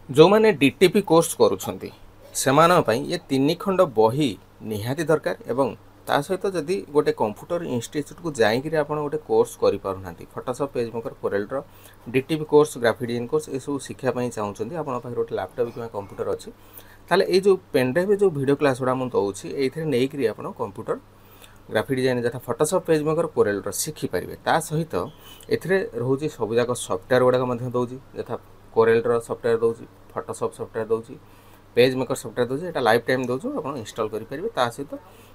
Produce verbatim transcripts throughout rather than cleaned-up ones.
ଯେଉଁମାନେ D T P course କରୁଛନ୍ତି ସେମାନଙ୍କ ପାଇଁ ଏ ତିନି ଖଣ୍ଡ ବହି ନିହାତି ଦରକାର ଏବଂ ତା ସହିତ ଯଦି ଗୋଟେ କମ୍ପ୍ୟୁଟର ଇନଷ୍ଟିଚ୍ୟୁଟ୍କୁ ଯାଇକିରି ଆପଣ ଗୋଟେ କୋର୍ସ କରିପାରୁନାହାନ୍ତି ଫଟୋସପ୍ ପେଜ୍ ମେକର କୋରେଲ୍ର D T P course graphic design course ଏସବୁ ଶିଖିବା ପାଇଁ ଚାହୁଁଛନ୍ତି ଆପଣଙ୍କ ପାଖରେ ଗୋଟେ ଲାପଟପ୍ କିମ୍ବା କମ୍ପ୍ୟୁଟର ଅଛି ତାହେଲେ ଏଇ ଯେଉଁ ପେନ୍ଡ୍ରାଇଭ୍ରେ ଯେଉଁ ଭିଡ଼ିଓ କ୍ଲାସ୍ ଗୁଡ଼ା ମୁଁ ଦେଉଛି ଏଇଥିରେ ନେଇକରି ଆପଣ କମ୍ପ୍ୟୁଟର ଗ୍ରାଫିକ୍ ଡିଜାଇନ୍ ଯଥା ଫଟୋସପ୍ ପେଜ୍ ମେକର କୋରେଲ୍ର ଶିଖିପାରିବେ ତା ସହିତ ଏଥିରେ ରହୁଛି ସବୁଯାକ ସଫ୍ଟୱେର୍ ଗୁଡ଼ାକ ମଧ୍ୟ ଦେଉଛି ଯଥା କୋରେଲ୍ର ସଫ୍ଟୱେର୍ ଦେଉଛି ଫଟୋସପ୍ ସଫ୍ଟୱେର୍ ଦେଉଛି ପେଜ୍ ମେକର ସଫ୍ଟୱେର୍ ଦେଉଛି ଏଇଟା ଲାଇଫ୍ ଟାଇମ୍ ଦେଉଛୁ ଆପଣ ଇନଷ୍ଟଲ୍ କରିପାରିବେ ତା ସହିତ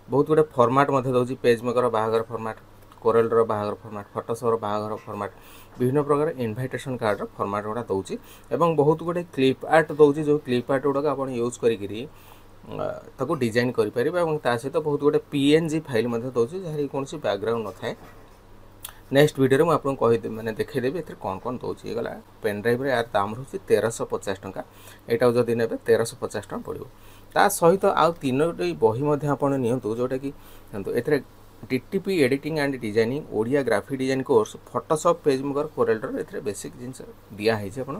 ବହୁତ ଗୁଡ଼ିଏ ଫର୍ମାଟ୍ ମଧ୍ୟ ଦେଉଛି ପେଜ୍ ମେକର ବାହାଘର ଫର୍ମାଟ୍ କୋରେଲ୍ର ବାହାଘର ଫର୍ମାଟ୍ ଫଟୋସପ୍ର ବାହାଘର ଫର୍ମାଟ୍ ବିଭିନ୍ନ ପ୍ରକାର ଇନଭାଇଟେସନ୍ କାର୍ଡ଼ର ଫର୍ମାଟ୍ ଗୁଡ଼ା ଦେଉଛି ଏବଂ ବହୁତ ଗୁଡ଼ିଏ କ୍ଲିପ୍ ଆର୍ଟ ଦେଉଛି ଯେଉଁ କ୍ଲିପ୍ ଆର୍ଟ ଗୁଡ଼ାକ ଆପଣ ୟୁଜ୍ କରିକିରି ତାକୁ ଡିଜାଇନ୍ କରିପାରିବେ ଏବଂ ତା ସହିତ ବହୁତ ଗୁଡ଼ିଏ ପି ଏନ୍ ଜି ଫାଇଲ୍ ମଧ୍ୟ ଦେଉଛି ଯାହାର କୌଣସି ବ୍ୟାକଗ୍ରାଉଣ୍ଡ ନଥାଏ ନେକ୍ସଟ ଭିଡ଼ିଓରେ ମୁଁ ଆପଣଙ୍କୁ କହିଦେବି ମାନେ ଦେଖେଇଦେବି ଏଥିରେ କ'ଣ କ'ଣ ଦେଉଛି ହେଇଗଲା ପେନ୍ ଡ୍ରାଇଭ୍ରେ ଏହାର ଦାମ ରହୁଛି ତେରଶହ ପଚାଶ ଟଙ୍କା ଏଇଟାକୁ ଯଦି ନେବେ ତେରଶହ ପଚାଶ ଟଙ୍କା ପଡ଼ିବ ତା ସହିତ ଆଉ ତିନୋଟି ବହି ମଧ୍ୟ ଆପଣ ନିଅନ୍ତୁ ଯେଉଁଟାକି ନିଅନ୍ତୁ ଏଥିରେ D T P editing and designing Odia graphic design course Photoshop page maker କୋରେଲ୍ର ଏଥିରେ ବେସିକ୍ ଜିନିଷ ଦିଆହେଇଛି ଆପଣ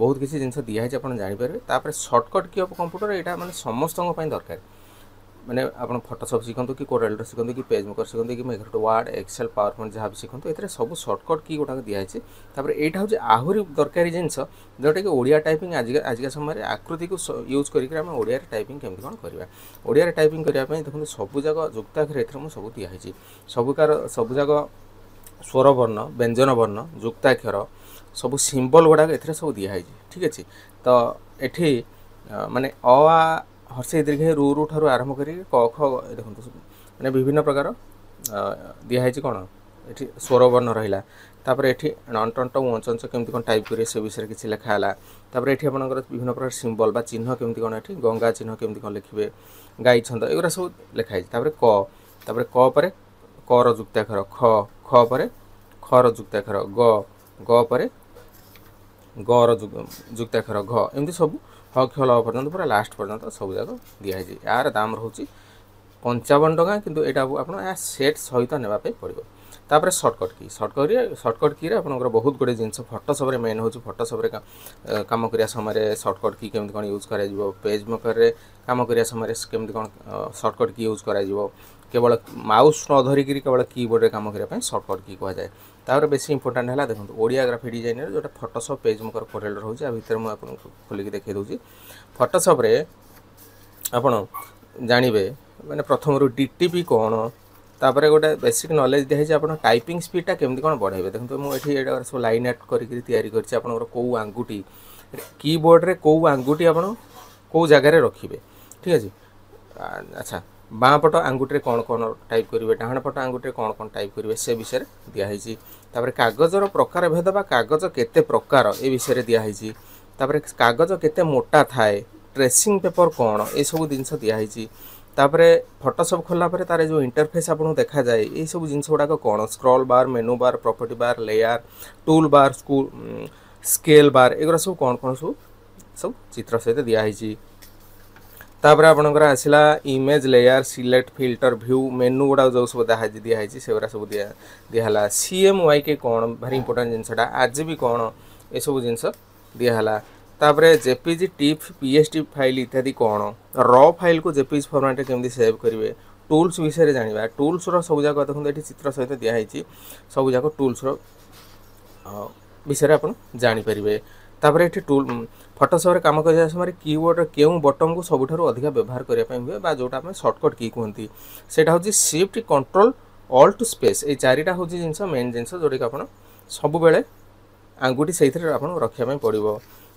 ବହୁତ କିଛି ଜିନିଷ ଦିଆହେଇଛି ଆପଣ ଜାଣିପାରିବେ ତାପରେ ସର୍ଟକଟ୍ କି ଅଫ୍ କମ୍ପ୍ୟୁଟର ଏଇଟା ମାନେ ସମସ୍ତଙ୍କ ପାଇଁ ଦରକାର ମାନେ ଆପଣ ଫଟୋସପ୍ ଶିଖନ୍ତୁ କି କୋରେଲ୍ର ଶିଖନ୍ତୁ କି ପେଜ୍ ମେକର ଶିଖନ୍ତୁ କି Microsoft Word Excel power point ଯାହା ବି ଶିଖନ୍ତୁ ଏଥିରେ ସବୁ ସର୍ଟକଟ୍ କି ଗୁଡ଼ାକ ଦିଆହେଇଛି ତାପରେ ଏଇଟା ହେଉଛି ଆହୁରି ଦରକାରୀ ଜିନିଷ ଯେଉଁଟାକି ଓଡ଼ିଆ ଟାଇପିଂ ଆଜିକା ଆଜିକା ସମୟରେ ଆକୃତିକୁ ୟୁଜ୍ କରିକି ଆମେ ଓଡ଼ିଆରେ ଟାଇପିଂ କେମିତି କ'ଣ କରିବା ଓଡ଼ିଆରେ ଟାଇପିଂ କରିବା ପାଇଁ ଦେଖନ୍ତୁ ସବୁଯାକ ଯୁକ୍ତାକ୍ଷର ଏଥିରେ ମୁଁ ସବୁ ଦିଆହେଇଛି ସବୁକାର ସବୁଯାକ ସ୍ୱରବର୍ଣ୍ଣ ବ୍ୟଞ୍ଜନ ବର୍ଣ୍ଣ ଯୁକ୍ତାକ୍ଷର ସବୁ ସିମ୍ବଲ୍ ଗୁଡ଼ାକ ଏଥିରେ ସବୁ ଦିଆହେଇଛି ଠିକ୍ ଅଛି ତ ଏଠି ମାନେ ଅ ଆ ହର୍ଷେଇ ଦୀର୍ଘେଇ ରୁ ରୁ ଠାରୁ ଆରମ୍ଭ କରିକି କ ଖ ଦେଖନ୍ତୁ ମାନେ ବିଭିନ୍ନ ପ୍ରକାର ଦିଆହେଇଛି କ'ଣ ଏଠି ସ୍ୱରବର୍ଣ୍ଣ ରହିଲା ତାପରେ ଏଠି ଣ ଟ ଞ କେମିତି କ'ଣ ଟାଇପ୍ କରିବେ ସେ ବିଷୟରେ କିଛି ଲେଖା ହେଲା ତାପରେ ଏଠି ଆପଣଙ୍କର ବିଭିନ୍ନ ପ୍ରକାର ସିମ୍ବଲ୍ ବା ଚିହ୍ନ କେମିତି କ'ଣ ଏଠି ଗଙ୍ଗା ଚିହ୍ନ କେମିତି କ'ଣ ଲେଖିବେ ଗାଈ ଛନ୍ଦ ଏଗୁଡ଼ା ସବୁ ଲେଖା ହେଇଛି ତାପରେ କ ତାପରେ କ ପରେ କର ଯୁକ୍ତାକ୍ଷର ଖ ଖ ପରେ ଖର ଯୁକ୍ତାକ୍ଷର ଗ ଗ ପରେ ଗର ଯୁକ୍ତାକ୍ଷର ଘ ଏମିତି ସବୁ ହ କ୍ଷ ଲ ପର୍ଯ୍ୟନ୍ତ ପୁରା ଲାଷ୍ଟ ପର୍ଯ୍ୟନ୍ତ ସବୁ ଯାକ ଦିଆହେଇଛି ଏହାର ଦାମ ରହୁଛି ପଞ୍ଚାବନ ଟଙ୍କା କିନ୍ତୁ ଏଇଟାକୁ ଆପଣ ଏହା ସେଟ୍ ସହିତ ନେବା ପାଇଁ ପଡ଼ିବ ତାପରେ ସର୍ଟକଟ୍ କି ସର୍ଟକଟ୍ ସର୍ଟକଟ୍ କିରେ ଆପଣଙ୍କର ବହୁତ ଗୁଡ଼ିଏ ଜିନିଷ ଫଟୋସପ୍ରେ ମେନ୍ ହେଉଛି ଫଟୋସପ୍ରେ କାମ କରିବା ସମୟରେ ସର୍ଟକଟ୍ କି କେମିତି କ'ଣ ୟୁଜ୍ କରାଯିବ ପେଜ୍ ମେକରରେ କାମ କରିବା ସମୟରେ କେମିତି କ'ଣ ସର୍ଟକଟ୍ କି ୟୁଜ୍ କରାଯିବ କେବଳ ମାଉସ୍ ନ ଧରିକିରି କେବଳ କିବୋର୍ଡ଼ରେ କାମ କରିବା ପାଇଁ ସର୍ଟକଟ୍ କି କୁହାଯାଏ ତାପରେ ବେଶୀ ଇମ୍ପୋର୍ଟାଣ୍ଟ ହେଲା ଦେଖନ୍ତୁ ଓଡ଼ିଆ ଗ୍ରାଫିକ୍ ଡିଜାଇନର ଯେଉଁଟା ଫଟୋସପ୍ ପେଜ୍ ମେକର କୋରେଲ୍ ରହୁଛି ଆ ଭିତରେ ମୁଁ ଆପଣଙ୍କୁ ଖୋଲିକି ଦେଖାଇ ଦେଉଛି ଫଟୋସପ୍ରେ ଆପଣ ଜାଣିବେ ମାନେ ପ୍ରଥମରୁ ଡି ଟି ପି କ'ଣ ତାପରେ ଗୋଟେ ବେସିକ୍ ନଲେଜ୍ ଦିଆହେଇଛି ଆପଣ ଟାଇପିଂ ସ୍ପିଡ଼ଟା କେମିତି କ'ଣ ବଢ଼ାଇବେ ଦେଖନ୍ତୁ ମୁଁ ଏଠି ଏଇଟା ସବୁ ଲାଇନ୍ ଆର୍ଟ କରିକି ତିଆରି କରିଛି ଆପଣଙ୍କର କେଉଁ ଆଙ୍ଗୁଠି କିବୋର୍ଡ଼ରେ କେଉଁ ଆଙ୍ଗୁଠି ଆପଣ କେଉଁ ଜାଗାରେ ରଖିବେ ଠିକ୍ ଅଛି ଆଚ୍ଛା ବାଁ ପଟ ଆଙ୍ଗୁଠିରେ କ'ଣ କ'ଣ ଟାଇପ୍ କରିବେ ଡାହାଣ ପଟ ଆଙ୍ଗୁଠିରେ କ'ଣ କ'ଣ ଟାଇପ୍ କରିବେ ସେ ବିଷୟରେ ଦିଆହେଇଛି ତାପରେ କାଗଜର ପ୍ରକାର ଭେଦ ବା କାଗଜ କେତେ ପ୍ରକାର ଏ ବିଷୟରେ ଦିଆହେଇଛି ତାପରେ କାଗଜ କେତେ ମୋଟା ଥାଏ ଟ୍ରେସିଂ ପେପର୍ କ'ଣ ଏସବୁ ଜିନିଷ ଦିଆହେଇଛି ତାପରେ ଫଟୋସପ୍ ଖୋଲିଲା ପରେ ତାର ଯେଉଁ ଇଣ୍ଟରଫେସ୍ ଆପଣଙ୍କୁ ଦେଖାଯାଏ ଏଇସବୁ ଜିନିଷ ଗୁଡ଼ାକ କ'ଣ scroll bar menu bar property bar layer tool bar school scale bar ଏଗୁଡ଼ା ସବୁ କ'ଣ କ'ଣ ସବୁ ସବୁ ଚିତ୍ର ସହିତ ଦିଆହେଇଛି ତାପରେ ଆପଣଙ୍କର ଆସିଲା image layer select filter view menu ଗୁଡ଼ାକ ଯେଉଁ ସବୁ ଦିଆହେଇଛି ସେଗୁଡ଼ା ସବୁ ଦିଆ ଦିଆହେଲା ସି ଏମ୍ ୱାଇ କେ କ'ଣ ଭାରି ଇମ୍ପୋର୍ଟାଣ୍ଟ ଜିନିଷଟା ଆଜି ବି କ'ଣ ଏସବୁ ଜିନିଷ ଦିଆହେଲା ତାପରେ JPG TIFF P S T file ଇତ୍ୟାଦି କ'ଣ ର ଫାଇଲ୍କୁ ଜେପିଜି ଫର୍ମାଟ୍ରେ କେମିତି ସେଭ୍ କରିବେ ଟୁଲ୍ସ ବିଷୟରେ ଜାଣିବା ଟୁଲ୍ସର ସବୁଯାକ ଦେଖନ୍ତୁ ଏଠି ଚିତ୍ର ସହିତ ଦିଆହେଇଛି ସବୁଯାକ ଟୁଲ୍ସର ବିଷୟରେ ଆପଣ ଜାଣିପାରିବେ ତାପରେ ଏଠି ଟୁଲ୍ ଫଟୋସପ୍ରେ କାମ କରିବା ସମୟରେ କିବୋର୍ଡ଼ର କେଉଁ ବଟନ୍କୁ ସବୁଠାରୁ ଅଧିକା ବ୍ୟବହାର କରିବା ପାଇଁ ହୁଏ ବା ଯେଉଁଟା ଆମେ ସର୍ଟକଟ୍ କି କୁହନ୍ତି ସେଇଟା ହେଉଛି ସିଫ୍ଟ କଣ୍ଟ୍ରୋଲ ଅଲ୍ଟ ସ୍ପେସ୍ ଏଇ ଚାରିଟା ହେଉଛି ଜିନିଷ ମେନ୍ ଜିନିଷ ଯେଉଁଟାକି ଆପଣ ସବୁବେଳେ ଆଙ୍ଗୁଠି ସେଇଥିରେ ଆପଣଙ୍କୁ ରଖିବା ପାଇଁ ପଡ଼ିବ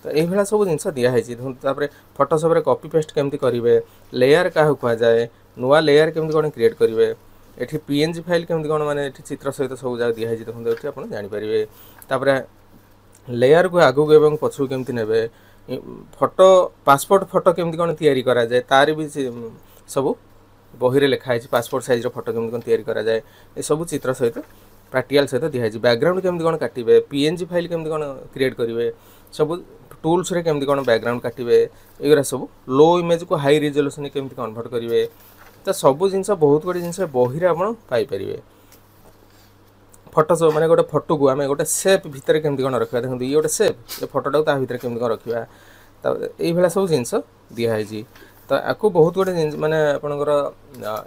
ତ ଏଇଭଳିଆ ସବୁ ଜିନିଷ ଦିଆହେଇଛି ଦେଖନ୍ତୁ ତାପରେ ଫଟୋସପ୍ରେ କପି ପେଷ୍ଟ କେମିତି କରିବେ ଲେୟାର କାହାକୁ କୁହାଯାଏ ନୂଆ ଲେୟାର କେମିତି କ'ଣ କ୍ରିଏଟ୍ କରିବେ ଏଠି ପି ଏନ୍ ଜି ଫାଇଲ୍ କେମିତି କ'ଣ ମାନେ ଏଠି ଚିତ୍ର ସହିତ ସବୁ ଯାକ ଦିଆହେଇଛି ଦେଖନ୍ତୁ ଏଠି ଆପଣ ଜାଣିପାରିବେ ତାପରେ ଲେୟାରକୁ ଆଗକୁ ଏବଂ ପଛକୁ କେମିତି ନେବେ ଫଟୋ ପାସପୋର୍ଟ ଫଟୋ କେମିତି କ'ଣ ତିଆରି କରାଯାଏ ତାର ବି ସବୁ ବହିରେ ଲେଖା ହେଇଛି ପାସପୋର୍ଟ ସାଇଜ୍ର ଫଟୋ କେମିତି କ'ଣ ତିଆରି କରାଯାଏ ଏସବୁ ଚିତ୍ର ସହିତ ପ୍ରାକ୍ଟିକାଲ ସହିତ ଦିଆହେଇଛି ବ୍ୟାକଗ୍ରାଉଣ୍ଡ କେମିତି କ'ଣ କାଟିବେ ପି ଏନ୍ ଜି ଫାଇଲ୍ କେମିତି କ'ଣ କ୍ରିଏଟ୍ କରିବେ ସବୁ ଟୁଲ୍ସରେ କେମିତି କ'ଣ ବ୍ୟାକଗ୍ରାଉଣ୍ଡ କାଟିବେ ଏଗୁଡ଼ା ସବୁ ଲୋ ଇମେଜ୍କୁ ହାଇ ରିଜଲ୍ୟୁସନ୍ କେମିତି କନଭର୍ଟ କରିବେ ତ ସବୁ ଜିନିଷ ବହୁତ ଗୁଡ଼ିଏ ଜିନିଷ ବହିରେ ଆପଣ ପାଇପାରିବେ ଫଟୋ ମାନେ ଗୋଟେ ଫଟୋକୁ ଆମେ ଗୋଟେ ସେପ୍ ଭିତରେ କେମିତି କ'ଣ ରଖିବା ଦେଖନ୍ତୁ ଇଏ ଗୋଟେ ସେପ୍ ଏ ଫଟୋଟାକୁ ତା ଭିତରେ କେମିତି କ'ଣ ରଖିବା ତାପରେ ଏଇଭଳିଆ ସବୁ ଜିନିଷ ଦିଆହେଇଛି। ତ ଆକୁ ବହୁତ ଗୁଡ଼ିଏ ଜିନିଷ, ମାନେ ଆପଣଙ୍କର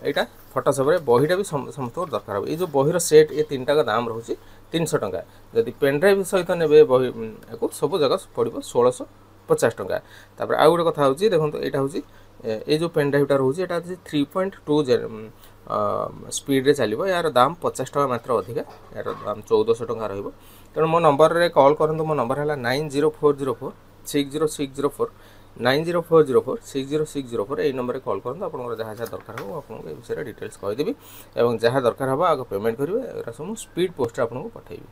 ଏଇଟା ଫଟୋସପ୍ରେ ବହିଟା ବି ସମସ୍ତଙ୍କର ଦରକାର ହେବ। ଏଇ ଯେଉଁ ବହିର ସେଟ୍, ଏ ତିନିଟାକ ଦାମ ରହୁଛି ତିନିଶହ ଟଙ୍କା। ଯଦି ପେନ୍ଡ୍ରାଇଭ୍ ସହିତ ନେବେ ବହି, ଆକୁ ସବୁ ଜାଗା ପଡ଼ିବ ଷୋଳଶହ ପଚାଶ ଟଙ୍କା। ତାପରେ ଆଉ ଗୋଟେ କଥା ହେଉଛି, ଦେଖନ୍ତୁ, ଏଇଟା ହେଉଛି ଏଇ ଯେଉଁ ପେନ୍ଡ୍ରାଇଭ୍ଟା ରହୁଛି, ଏଇଟା ହେଉଛି ଥ୍ରୀ ପଏଣ୍ଟ ଟୁ ସ୍ପିଡ଼ରେ ଚାଲିବ। ଏହାର ଦାମ ପଚାଶ ଟଙ୍କା ମାତ୍ର ଅଧିକା, ଏହାର ଦାମ ଚଉଦଶହ ଟଙ୍କା ରହିବ। ତେଣୁ ମୋ ନମ୍ବରରେ କଲ୍ କରନ୍ତୁ। ମୋ ନମ୍ବର ହେଲା nine zero four zero four six zero six zero four, nine zero four zero four six zero six zero four. ଏଇ ନମ୍ବରରେ କଲ୍ କରନ୍ତୁ। ଆପଣଙ୍କର ଯାହା ଯାହା ଦରକାର ହେବ, ମୁଁ ଆପଣଙ୍କୁ ଏ ବିଷୟରେ ଡିଟେଲ୍ସ କହିଦେବି ଏବଂ ଯାହା ଦରକାର ହେବ ଆଗ ପେମେଣ୍ଟ କରିବେ। ଏଗୁଡ଼ା ସବୁ ମୁଁ ସ୍ପିଡ଼ ପୋଷ୍ଟରେ ଆପଣଙ୍କୁ ପଠାଇବି।